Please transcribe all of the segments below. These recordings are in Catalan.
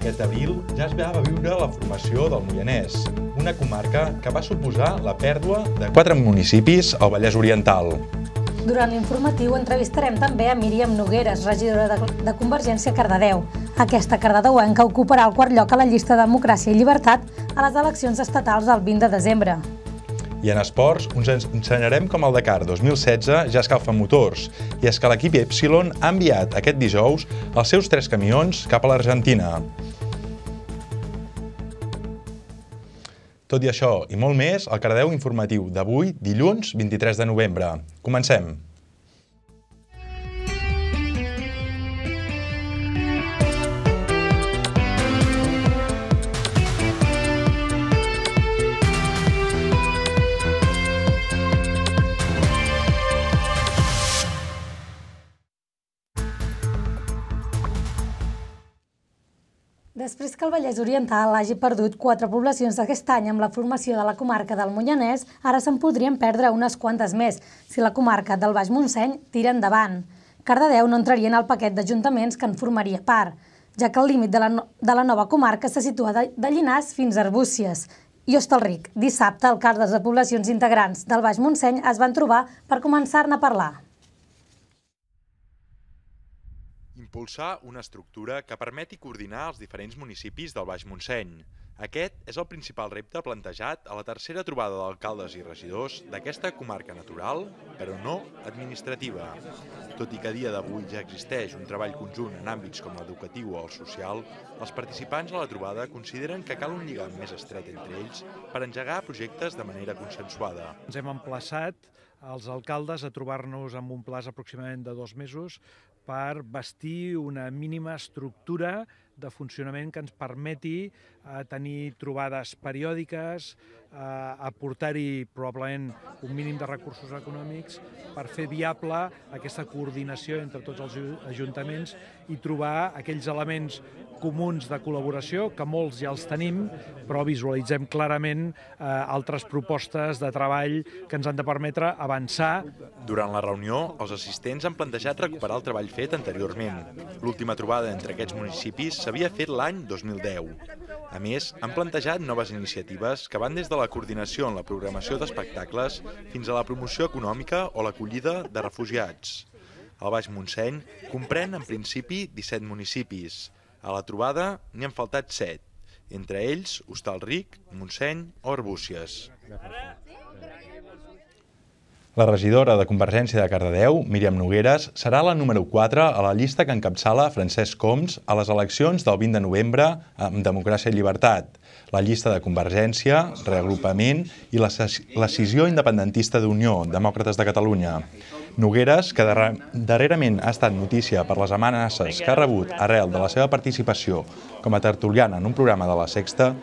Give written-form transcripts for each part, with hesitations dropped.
Aquest abril ja es va viure la formació del Moianès, una comarca que va suposar la pèrdua de 4 municipis al Vallès Oriental. Durant l'informatiu entrevistarem també a Míriam Nogueres, regidora de Convergència a Cardedeu. Aquesta cardedeuenca ocuparà el quart lloc a la llista Democràcia i Llibertat a les eleccions estatals del 20 de desembre. I en esports us ensenyarem com el Dakar 2016 ja escalfa motors, i és que l'equip Epsilon ha enviat aquest dijous els seus 3 camions cap a l'Argentina. Tot i això i molt més, el Cardedeu informatiu d'avui, dilluns 23 de novembre. Comencem! Després que el Vallès Oriental hagi perdut 4 poblacions aquest any amb la formació de la comarca del Moianès, ara se'n podrien perdre unes quantes més, si la comarca del Baix Montseny tira endavant. Cardedeu no entraria en el paquet d'ajuntaments que en formaria part, ja que el límit de la nova comarca se situa de Llinars fins a Arbúcies. I Hostalric, dissabte, alcaldes de poblacions integrants del Baix Montseny es van trobar per començar-ne a parlar. Impulsar una estructura que permeti coordinar els diferents municipis del Baix Montseny. Aquest és el principal repte plantejat a la tercera trobada d'alcaldes i regidors d'aquesta comarca natural, però no administrativa. Tot i que a dia d'avui ja existeix un treball conjunt en àmbits com l'educatiu o el social, els participants a la trobada consideren que cal un lligam més estret entre ells per engegar projectes de manera consensuada. Ens hem emplaçat als alcaldes a trobar-nos amb un plaç aproximadament de 2 mesos per bastir una mínima estructura de funcionament que ens permeti tenir trobades periòdiques, aportar-hi probablement un mínim de recursos econòmics per fer viable aquesta coordinació entre tots els ajuntaments i trobar aquells elements comuns de col·laboració, que molts ja els tenim, però visualitzem clarament altres propostes de treball que ens han de permetre avançar. Durant la reunió, els assistents han plantejat recuperar el treball fet anteriorment. L'última trobada entre aquests municipis s'havia fet l'any 2010. A més, han plantejat noves iniciatives que van des de la coordinació en la programació d'espectacles fins a la promoció econòmica o l'acollida de refugiats. El Baix Montseny comprèn en principi 17 municipis. A la trobada n'hi han faltat 7, entre ells Hostalric, Montseny o Arbúcies. La regidora de Convergència de Cardedeu, Míriam Nogueres, serà la número 4 a la llista que encapçala Francesc Homs a les eleccions del 20 de novembre amb Democràcia i Llibertat, la llista de Convergència, Reagrupament i la Escissió Independentista d'Unió, Demòcrates de Catalunya. Nogueres, que darrerament ha estat notícia per les amenaces que ha rebut arrel de la seva participació com a tertuliana en un programa de La Sexta,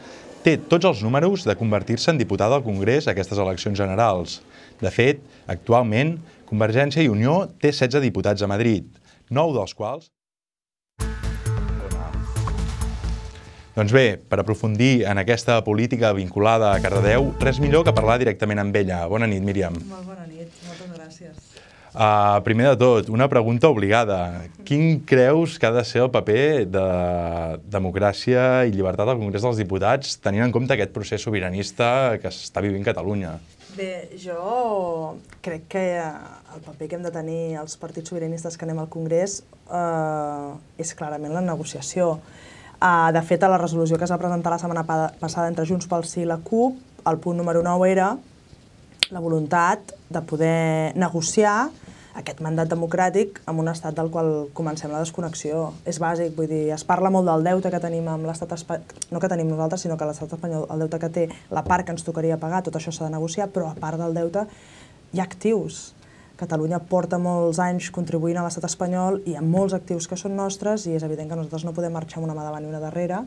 té tots els números de convertir-se en diputada al Congrés a aquestes eleccions generals. De fet, actualment, Convergència i Unió té 16 diputats a Madrid, 9 dels quals... Doncs bé, per aprofundir en aquesta política vinculada a Cardedeu, res millor que parlar directament amb ella. Bona nit, Míriam. Molt bona nit, moltes gràcies. Primer de tot, una pregunta obligada. Quin creus que ha de ser el paper de Democràcia i Llibertat al Congrés dels Diputats, tenint en compte aquest procés sobiranista que s'està vivint Catalunya? Bé, jo crec que el paper que hem de tenir els partits sobiranistes que anem al Congrés és clarament la negociació. De fet, a la resolució que es va presentar la setmana passada entre Junts pel Sí i la CUP, el punt número 9 era la voluntat de poder negociar aquest mandat democràtic amb un estat del qual comencem la desconnexió. És bàsic, vull dir, es parla molt del deute que tenim amb l'estat espanyol, no que tenim nosaltres, sinó que l'estat espanyol, el deute que té, la part que ens tocaria pagar, tot això s'ha de negociar, però a part del deute hi ha actius. Catalunya porta molts anys contribuint a l'estat espanyol i hi ha molts actius que són nostres i és evident que nosaltres no podem marxar amb una mà davant i una darrere,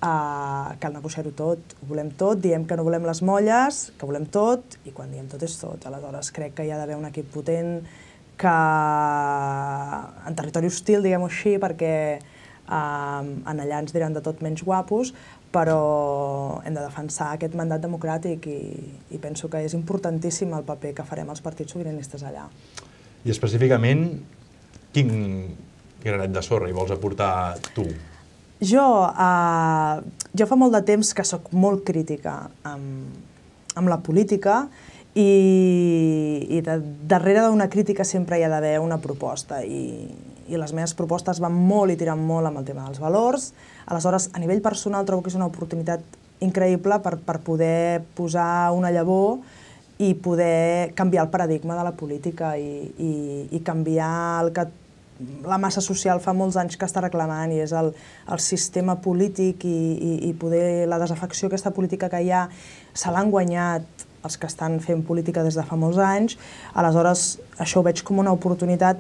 cal negociar-ho tot, ho volem tot, diem que no volem les molles, que volem tot i quan diem tot és tot. Aleshores crec que hi ha d'haver un equip potent que en territori hostil, diguem-ho així, perquè en allà ens diran de tot menys guapos, però hem de defensar aquest mandat democràtic i penso que és importantíssim el paper que farem els partits sobiranistes allà. I específicament, quin granet de sorra hi vols aportar tu? Jo fa molt de temps que sóc molt crítica amb la política i darrere d'una crítica sempre hi ha d'haver una proposta i les meves propostes van molt i tiren molt amb el tema dels valors. Aleshores, a nivell personal trobo que és una oportunitat increïble per poder posar una llavor i poder canviar el paradigma de la política i canviar el que la massa social fa molts anys que està reclamant i és el sistema polític i poder la desafecció aquesta política que hi ha se l'han guanyat els que estan fent política des de fa molts anys. Aleshores, això ho veig com una oportunitat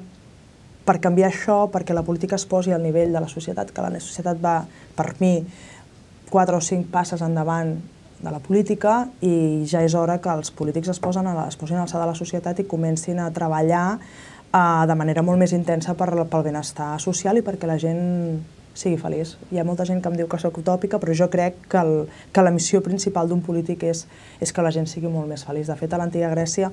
per canviar això, perquè la política es posi al nivell de la societat, que la societat va, per mi, 4 o 5 passes endavant de la política i ja és hora que els polítics es posin a l'alçada de la societat i comencin a treballar de manera molt més intensa pel benestar social i perquè la gent sigui feliç. Hi ha molta gent que em diu que soc utòpica, però jo crec que la missió principal d'un polític és que la gent sigui molt més feliç. De fet, a l'antiga Grècia,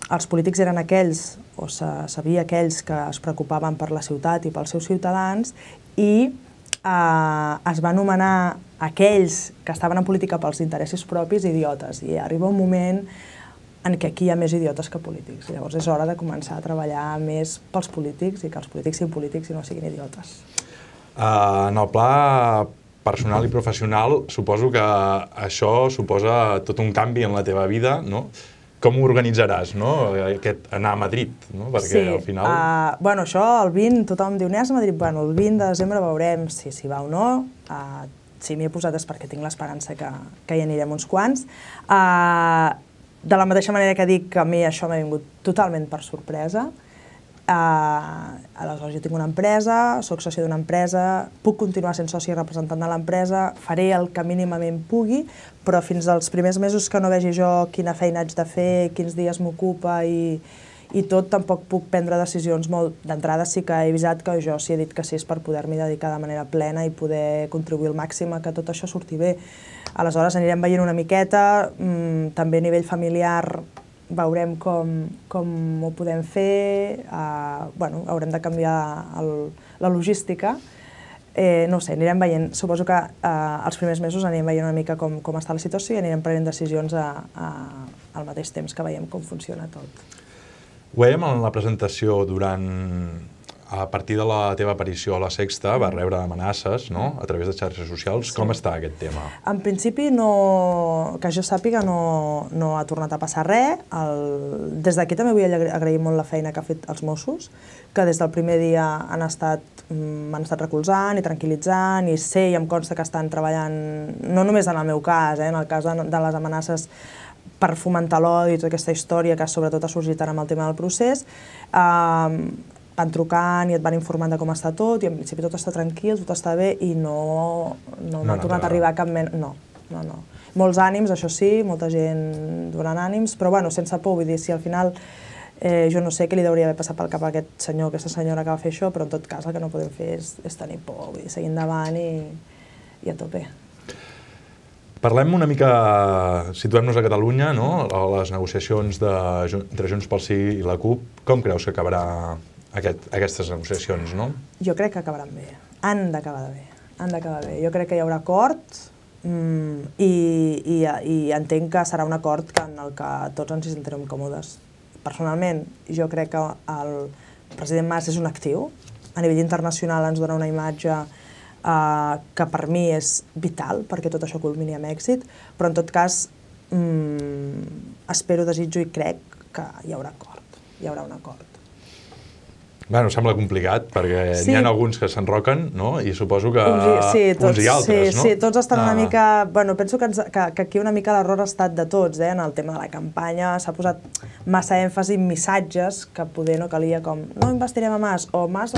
els polítics eren aquells, o sabia aquells que es preocupaven per la ciutat i pels seus ciutadans i es va anomenar aquells que estaven en política pels interessos propis idiotes. I arriba un moment en què aquí hi ha més idiotes que polítics. Llavors és hora de començar a treballar més pels polítics i que els polítics siguin polítics i no siguin idiotes. En el pla personal i professional, suposo que això suposa tot un canvi en la teva vida, no? Com ho organitzaràs, no? Anar a Madrid, no? Perquè al final... Bueno, això, el 20, tothom diu, anem a Madrid, bueno, el 20 de desembre veurem si va o no. Si m'hi he posat és perquè tinc l'esperança que hi anirem uns quants. De la mateixa manera que dic que a mi això m'ha vingut totalment per sorpresa. Aleshores, jo tinc una empresa, soc soci d'una empresa, puc continuar sent soci i representant de l'empresa, faré el que mínimament pugui, però fins als primers mesos que no vegi jo quina feina haig de fer, quins dies m'ocupa i tot, tampoc puc prendre decisions molt... D'entrada sí que he avisat que jo sí he dit que sí és per poder-m'hi dedicar de manera plena i poder contribuir al màxim a que tot això surti bé. Aleshores anirem veient una miqueta, també a nivell familiar veurem com ho podem fer, haurem de canviar la logística, no ho sé, anirem veient, suposo que els primers mesos anirem veient una mica com està la situació i anirem prenent decisions al mateix temps que veiem com funciona tot. Ho veiem en la presentació a partir de la teva aparició a La Sexta, va rebre amenaces a través de xarxes socials. Com està aquest tema? En principi, que jo sàpiga, no ha tornat a passar res. Des d'aquí també vull agrair molt la feina que ha fet els Mossos, que des del primer dia m'han estat recolzant i tranquil·litzant i sé i em consta que estan treballant, no només en el meu cas, en el cas de les amenaces per fomentar l'odi i tota aquesta història que sobretot ha sorgit ara amb el tema del procés, van trucant i et van informant de com està tot i en principi tot està tranquil, tot està bé i no m'ha tornat a arribar cap mena... No. Molts ànims, això sí, molta gent donant ànims, però bueno, sense por, vull dir, si al final jo no sé què li hauria d'haver passat pel cap a aquest senyor o aquesta senyora que va fer això, però en tot cas el que no podem fer és tenir por, vull dir, seguir endavant i a tope. Parlem una mica, situem-nos a Catalunya, a les negociacions entre Junts pel Sí i la CUP. Com creus que acabarà aquestes negociacions, no? Jo crec que acabaran bé. Han d'acabar bé. Jo crec que hi haurà acord i entenc que serà un acord en el que tots ens hi sentirem còmodes. Personalment, jo crec que el president Mas és un actiu. A nivell internacional ens dona una imatge que per mi és vital perquè tot això culmini amb èxit, però en tot cas espero, desitjo i crec que hi haurà acord, hi haurà un acord. Bueno, sembla complicat, perquè n'hi ha alguns que s'enroquen, no? I suposo que uns i altres, no? Sí, tots estan una mica... Bueno, penso que aquí una mica l'error ha estat de tots, en el tema de la campanya. S'ha posat massa èmfasi en missatges que poder no calia com no investirem a Mas o Mas...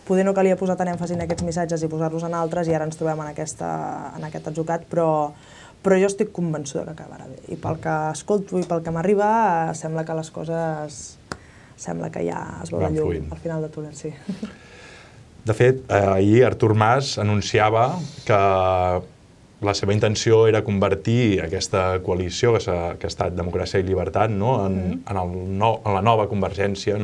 Poder no calia posar tant èmfasi en aquests missatges i posar-los en altres i ara ens trobem en aquest atzucac, però jo estic convençuda que acabarà bé. I pel que escolto i pel que m'arriba, sembla que les coses... Sembla que ja es veu la llum al final de túnel, sí. De fet, ahir Artur Mas anunciava que la seva intenció era convertir aquesta coalició que ha estat Democràcia i Llibertat en la nova Convergència.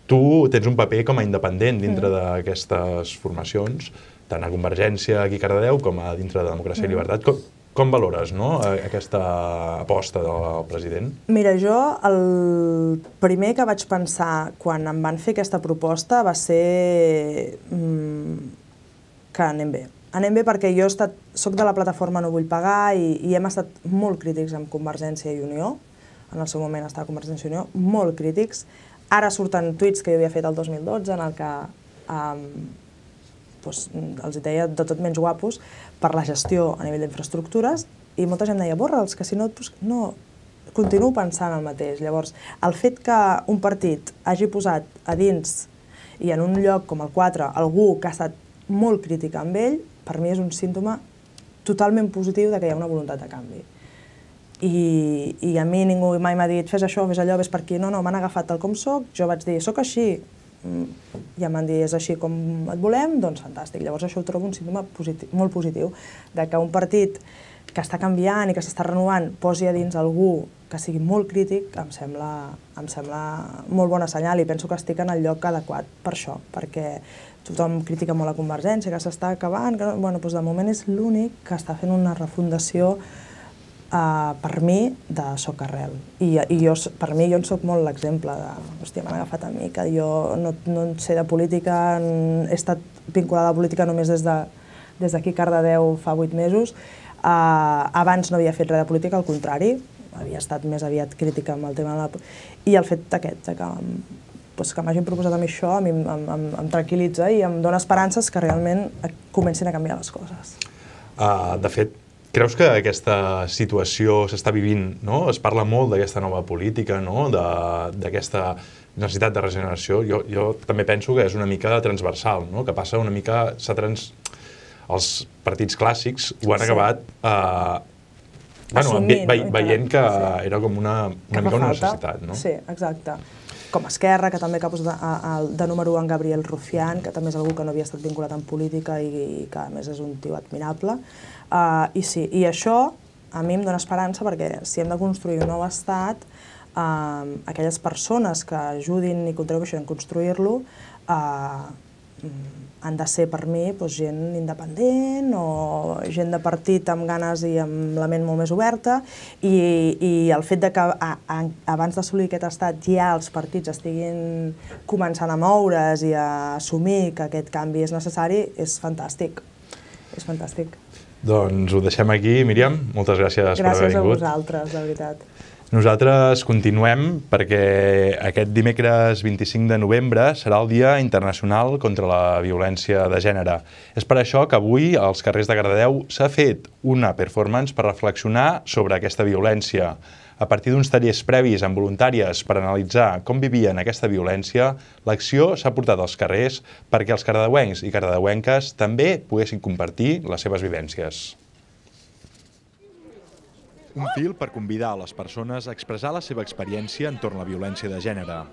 tu tens un paper com a independent dintre d'aquestes formacions, tant a Convergència aquí a Cardedeu com a dintre de Democràcia i Llibertat. Com valores aquesta aposta del president? Mira, jo el primer que vaig pensar quan em van fer aquesta proposta va ser que anem bé. Anem bé perquè jo soc de la plataforma No Vull Pagar i hem estat molt crítics amb Convergència i Unió. En el seu moment estava Convergència i Unió, molt crítics. Ara surten tuits que jo havia fet el 2012 en el que els deia de tot menys guapos per la gestió a nivell d'infraestructures i molta gent deia, borra'ls, que si no, no, continuo pensant el mateix. Llavors, el fet que un partit hagi posat a dins i en un lloc com el 4 algú que ha estat molt crític amb ell, per mi és un símptoma totalment positiu de que hi ha una voluntat de canvi. I a mi ningú mai m'ha dit, fes això, fes allò, vés per aquí. No, m'han agafat tal com soc, jo vaig dir, soc així, ja m'han dit, és així com et volem, doncs fantàstic. Llavors això ho trobo un símptoma molt positiu, de que un partit que està canviant i que s'està renovant posi a dins algú que sigui molt crític, em sembla molt bona senyal i penso que estic en el lloc adequat per això, perquè tothom critica molt a Convergència, que s'està acabant, doncs de moment és l'únic que està fent una refundació per mi de Socarrel. I per mi jo en soc molt l'exemple de, hòstia, m'han agafat a mi, que jo no en sé de política, he estat vinculada a la política només des d'aquí Cardedeu fa 8 mesos. Abans no havia fet res de política, al contrari, havia estat més aviat crítica amb el tema de la... I el fet aquest, que m'hagin proposat a mi això, a mi em tranquil·litza i em dona esperances que realment comencin a canviar les coses. De fet, creus que aquesta situació s'està vivint, es parla molt d'aquesta nova política, d'aquesta necessitat de regeneració? Jo també penso que és una mica transversal, que passa una mica... Els partits clàssics ho han acabat veient que era com una mica una necessitat. Sí, exacte. Com Esquerra, que també ha posat de número 1 en Gabriel Rufián, que també és algú que no havia estat vinculat en política i que a més és un tio admirable. I sí, i això a mi em dona esperança perquè si hem de construir un nou estat, aquelles persones que ajudin i contribueixin a construir-lo han de ser per mi gent independent o gent de partit amb ganes i amb la ment molt més oberta i el fet que abans d'assolir aquest estat ja els partits estiguin començant a moure's i a assumir que aquest canvi és necessari és fantàstic. És fantàstic. Doncs ho deixem aquí, Míriam. Moltes gràcies per haver vingut. Gràcies a vosaltres, de veritat. Nosaltres continuem perquè aquest dimecres 25 de novembre serà el Dia Internacional contra la Violència de Gènere. És per això que avui als carrers de Cardedeu s'ha fet una performance per reflexionar sobre aquesta violència. A partir d'uns tallers previs amb voluntàries per analitzar com vivien aquesta violència, l'acció s'ha portat als carrers perquè els cardedeuencs i cardedeuenques també poguessin compartir les seves vivències. Un fil per convidar a les persones a expressar la seva experiència entorn a la violència de gènere.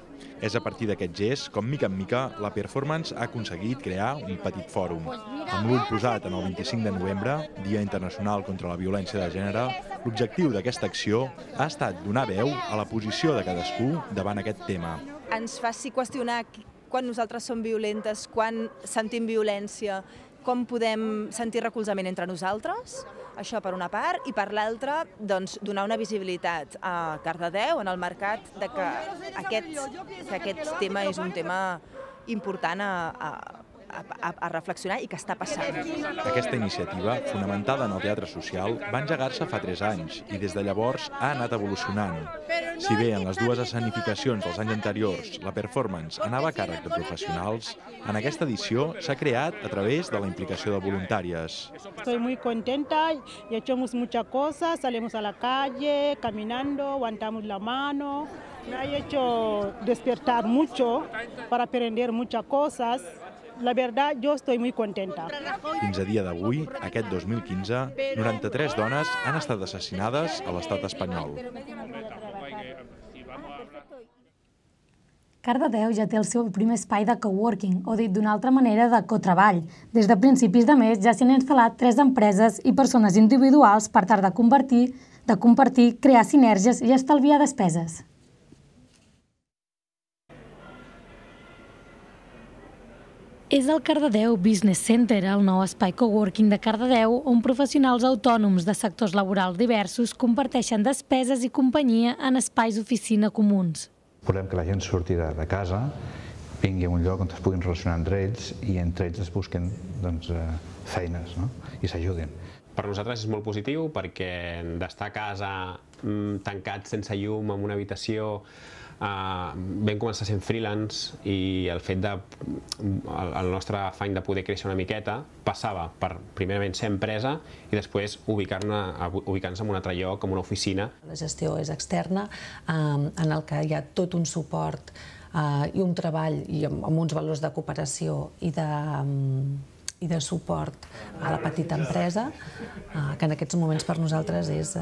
És a partir d'aquest gest, com mica en mica, la performance ha aconseguit crear un petit fòrum. Amb l'ull posat en el 25 de novembre, Dia Internacional contra la Violència de Gènere, l'objectiu d'aquesta acció ha estat donar veu a la posició de cadascú davant aquest tema. Ens faci qüestionar quan nosaltres som violentes, quan sentim violència, com podem sentir recolzament entre nosaltres, això per una part, i per l'altra, doncs, donar una visibilitat a Cardedeu, en el mercat, de que aquest tema és un tema important a reflexionar i que està passant. Aquesta iniciativa, fonamentada en el teatre social, va engegar-se fa 3 anys i des de llavors ha anat evolucionant. Si bé en les dues escenificacions dels anys anteriors la performance anava a càrrec de professionals, en aquesta edició s'ha creat a través de la implicació de voluntàries. Estoy muy contenta y hemos muchas cosas, salimos a la calle, caminando, aguantamos la mano. Me ha hecho despertar mucho para aprender muchas cosas. La verdad, yo estoy muy contenta. Fins a dia d'avui, aquest 2015, 93 dones han estat assassinades a l'estat espanyol. Cardedeu ja té el seu primer espai de coworking, o dit d'una altra manera, de cotreball. Des de principis de mes ja s'hi han instal·lat 3 empreses i persones individuals per tal de compartir, crear sinergies i estalviar despeses. És el Cardedeu Business Center, el nou espai coworking de Cardedeu, on professionals autònoms de sectors laborals diversos comparteixen despeses i companyia en espais oficina comuns. Volem que la gent surti de casa, vingui a un lloc on es puguin relacionar entre ells i entre ells es busquen feines i s'ajudin. Per nosaltres és molt positiu perquè d'estar a casa tancats sense llum en una habitació vam començar sent freelance i el fet el nostre afany de poder créixer una miqueta passava per primerament ser empresa i després ubicar-nos en un altre lloc, com una oficina. La gestió és externa, en el que hi ha tot un suport i un treball amb uns valors de cooperació i de suport a la petita empresa, que en aquests moments per nosaltres és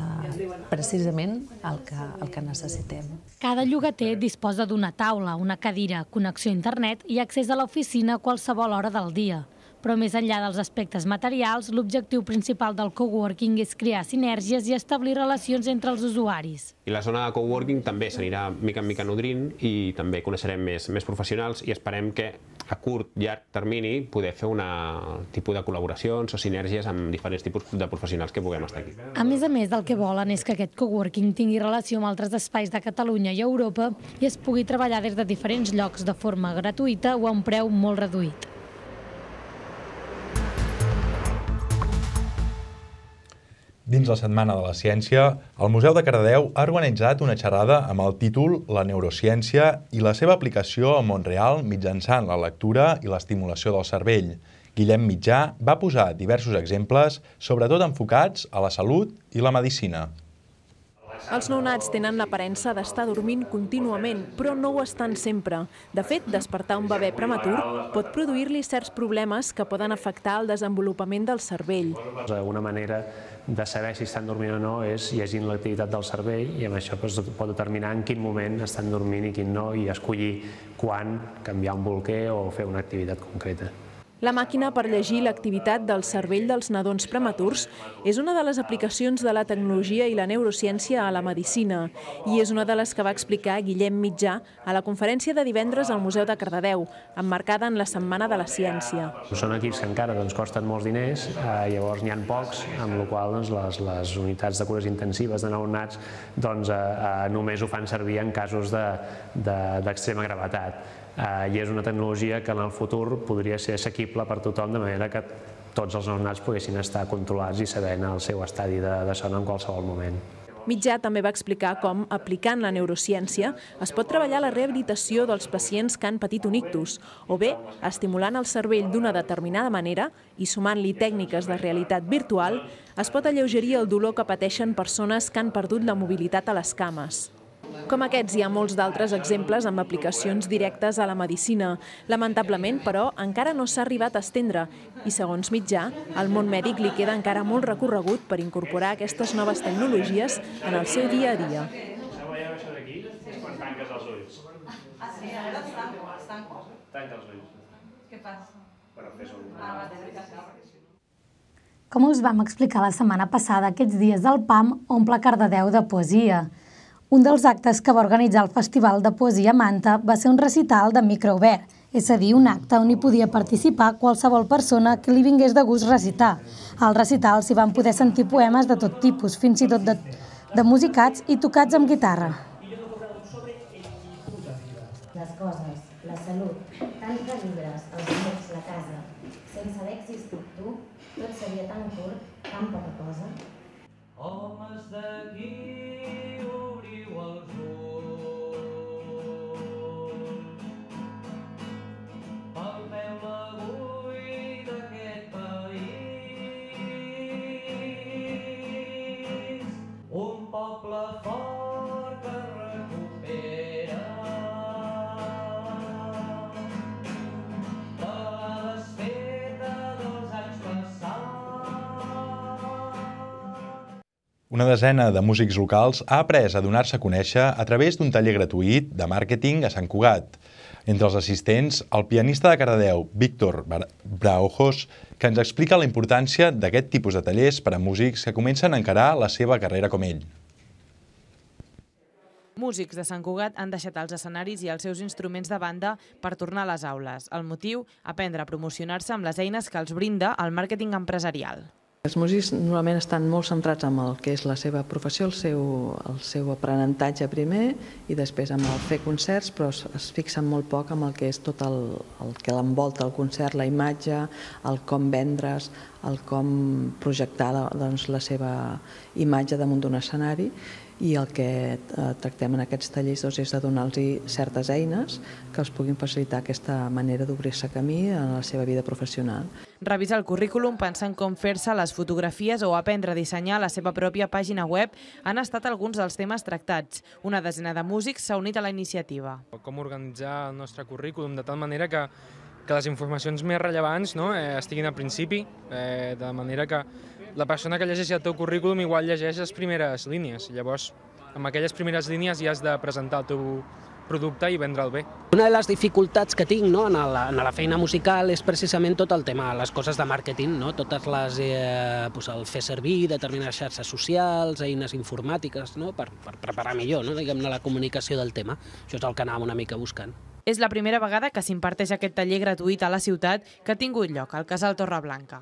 precisament el que necessitem. Cada llogater disposa d'una taula, una cadira, connexió a internet i accés a l'oficina a qualsevol hora del dia. Però més enllà dels aspectes materials, l'objectiu principal del coworking és crear sinergies i establir relacions entre els usuaris. I la zona de coworking també s'anirà mica en mica nodrint i també coneixerem més professionals i esperem que a curt, llarg termini poder fer un tipus de col·laboracions o sinergies amb diferents tipus de professionals que puguem estar aquí. A més, el que volen és que aquest coworking tingui relació amb altres espais de Catalunya i Europa i es pugui treballar des de diferents llocs de forma gratuïta o a un preu molt reduït. Dins la Setmana de la Ciència, el Museu de Cardedeu ha organitzat una xerrada amb el títol La neurociència i la seva aplicació al món real mitjançant la lectura i l'estimulació del cervell. Guillem Mitjà va posar diversos exemples, sobretot enfocats a la salut i la medicina. Els nounats tenen l'aparença d'estar dormint contínuament, però no ho estan sempre. De fet, despertar un bebè prematur pot produir-li certs problemes que poden afectar el desenvolupament del cervell. Una manera de saber si estan dormint o no és llegint l'activitat del cervell i amb això pot determinar en quin moment estan dormint i quin no i escollir quan canviar un bolquer o fer una activitat concreta. La màquina per llegir l'activitat del cervell dels nadons prematurs és una de les aplicacions de la tecnologia i la neurociència a la medicina i és una de les que va explicar Guillem Mitjà a la conferència de divendres al Museu de Cardedeu, emmarcada en la Setmana de la Ciència. Són equips que encara costen molts diners, llavors n'hi ha pocs, amb la qual cosa les unitats de cures intensives de nounats només ho fan servir en casos d'extrema gravetat. I és una tecnologia que en el futur podria ser assequible per tothom, de manera que tots els nounats poguessin estar controlats i sabent el seu estadi de son en qualsevol moment. Mitjà també va explicar com, aplicant la neurociència, es pot treballar la rehabilitació dels pacients que han patit un ictus, o bé estimulant el cervell d'una determinada manera i sumant-li tècniques de realitat virtual, es pot alleugerir el dolor que pateixen persones que han perdut la mobilitat a les cames. Com aquests, hi ha molts d'altres exemples amb aplicacions directes a la medicina. Lamentablement, però, encara no s'ha arribat a estendre i, segons Mitjà, al món mèdic li queda encara molt recorregut per incorporar aquestes noves tecnologies en el seu dia a dia. Com us vam explicar la setmana passada, aquests dies del PAM omple Cardedeu de poesia. Un dels actes que va organitzar el Festival de Poesia Manta va ser un recital de microobert, és a dir, un acte on hi podia participar qualsevol persona que li vingués de gust recitar. Al recital s'hi van poder sentir poemes de tot tipus, fins i tot de musicats i tocats amb guitarra. Les coses, la salut, tants de llibres, els amics, la casa. Sense haver existit tu, tot seria tan curt, tan poca cosa. Homes d'aquí, obriu els ulls. Palpeu l'avui d'aquest país. Un poble fort que recupera de la desfeta dels anys passats. Una desena de músics locals ha après a donar-se a conèixer a través d'un taller gratuït de màrqueting a Sant Cugat. Entre els assistents, el pianista de Cardedeu, Víctor Braojos, que ens explica la importància d'aquest tipus de tallers per a músics que comencen a encarar la seva carrera com ell. Músics de Sant Cugat han deixat els escenaris i els seus instruments de banda per tornar a les aules. El motiu, aprendre a promocionar-se amb les eines que els brinda el màrqueting empresarial. Els músics normalment estan molt centrats en el que és la seva professió, el seu aprenentatge primer i després amb el fer concerts, però es fixen molt poc en el que és tot el que l'envolta el concert, la imatge, el com vendre's, el com projectar la seva imatge damunt d'un escenari, i el que tractem en aquests tallers és de donar-los certes eines que els puguin facilitar aquesta manera d'obrir-se camí en la seva vida professional. Revisar el currículum, pensar en com fer-se les fotografies o aprendre a dissenyar la seva pròpia pàgina web han estat alguns dels temes tractats. Una desena de músics s'ha unit a la iniciativa. Com organitzar el nostre currículum de tal manera que les informacions més rellevants estiguin al principi, de manera que la persona que llegeixi el teu currículum igual llegeix les primeres línies. Llavors, amb aquelles primeres línies ja has de presentar el teu producte i vendre'l bé. Una de les dificultats que tinc en la feina musical és precisament tot el tema, les coses de màrqueting, totes les, el fer servir determinades xarxes socials, eines informàtiques, per preparar millor la comunicació del tema. Això és el que anàvem una mica buscant. És la primera vegada que s'imparteix aquest taller gratuït a la ciutat que ha tingut lloc al Casal Torreblanca.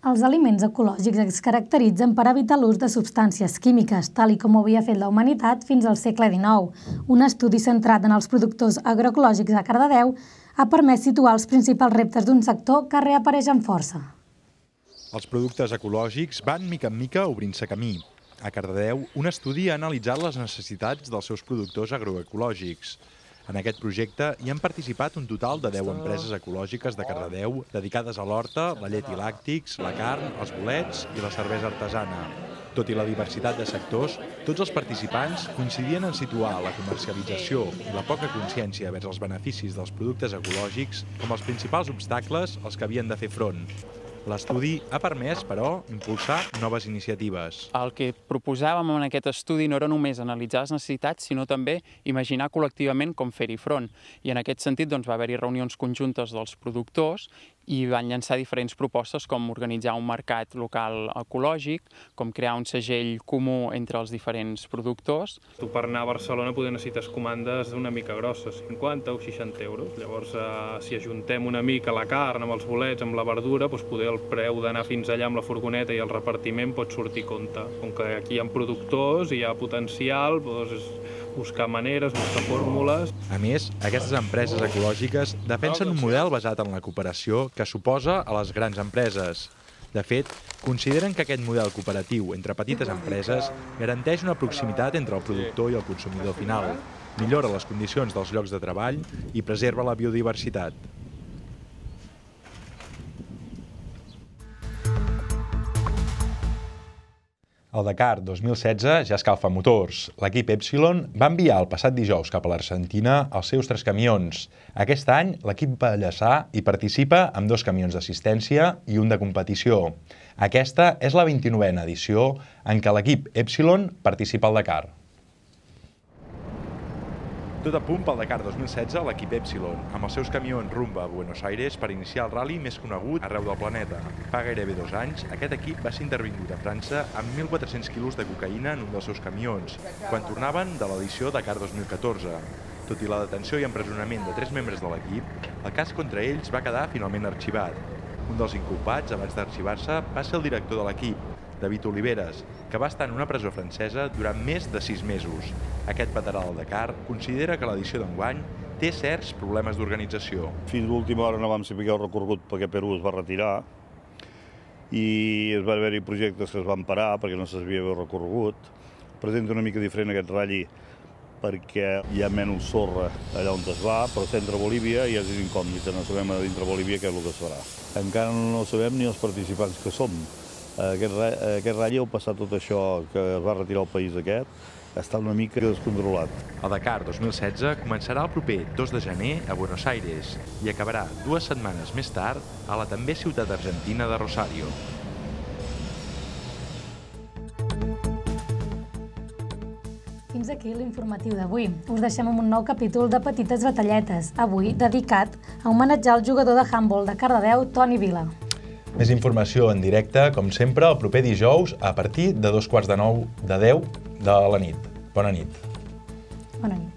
Els aliments ecològics es caracteritzen per evitar l'ús de substàncies químiques, tal com ho havia fet la humanitat fins al segle XIX. Un estudi centrat en els productors agroecològics a Cardedeu ha permès situar els principals reptes d'un sector que reapareix amb força. Els productes ecològics van mica en mica obrint-se camí. A Cardedeu, un estudi ha analitzat les necessitats dels seus productors agroecològics. En aquest projecte hi han participat un total de 10 empreses ecològiques de Cardedeu dedicades a l'horta, la llet i làctics, la carn, els bolets i la cervesa artesana. Tot i la diversitat de sectors, tots els participants coincidien en situar la comercialització i la poca consciència vers els beneficis dels productes ecològics com els principals obstacles als que havien de fer front. L'estudi ha permès, però, impulsar noves iniciatives. El que proposàvem en aquest estudi no era només analitzar les necessitats, sinó també imaginar col·lectivament com fer-hi front. I en aquest sentit va haver-hi reunions conjuntes dels productors i van llançar diferents propostes com organitzar un mercat local ecològic, com crear un segell comú entre els diferents productors. Tu per anar a Barcelona necessites comandes una mica grosses, 50 o 60 euros. Llavors, si ajuntem una mica la carn amb els bolets, amb la verdura, poder el preu d'anar fins allà amb la furgoneta i el repartiment pot sortir a compte. Com que aquí hi ha productors i hi ha potencial, buscar maneres, buscar fórmules. A més, aquestes empreses ecològiques defensen un model basat en la cooperació que s'oposa a les grans empreses. De fet, consideren que aquest model cooperatiu entre petites empreses garanteix una proximitat entre el productor i el consumidor final, millora les condicions dels llocs de treball i preserva la biodiversitat. El Dakar 2016 ja escalfa motors. L'equip Epsilon va enviar el passat dijous cap a l'Argentina els seus 3 camions. Aquest any, l'equip Ballassà hi participa amb 2 camions d'assistència i un de competició. Aquesta és la 29a edició en què l'equip Epsilon participa al Dakar. Tot a punt pel Dakar 2016, l'equip Epsilon, amb els seus camions rumb a Buenos Aires per iniciar el ral·li més conegut arreu del planeta. Fa gairebé 2 anys, aquest equip va ser intervingut a França amb 1.400 quilos de cocaïna en un dels seus camions, quan tornaven de l'edició Dakar 2014. Tot i la detenció i empresonament de 3 membres de l'equip, el cas contra ells va quedar finalment arxivat. Un dels inculpats, abans d'arxivar-se, va ser el director de l'equip, David Oliveres, que va estar en una presó francesa durant més de 6 mesos. Aquest veterà del Dakar considera que l'edició d'enguany té certs problemes d'organització. Fins l'última hora no vam saber el recorregut perquè Perú es va retirar i es va haver-hi projectes que es van parar perquè no se sabia el recorregut. Presenta una mica diferent aquest ratll perquè hi ha menys sorra allà on es va, però centre Bolívia i és incògnita, no sabem a dintre Bolívia què és el que es farà. Encara no sabem ni els participants que som. Aquest ratll, al passar tot això que es va retirar el país aquest, està una mica descontrolat. El Dakar 2016 començarà el proper 2 de gener a Buenos Aires i acabarà 2 setmanes més tard a la també ciutat argentina de Rosario. Fins aquí l'informatiu d'avui. Us deixem amb un nou capítol de Petites Batalletes, avui dedicat a homenatjar el jugador de handbol de Cardedeu, Toni Vila. Més informació en directe, com sempre, el proper dijous a partir de 10:15 de la nit. Bona nit. Bona nit.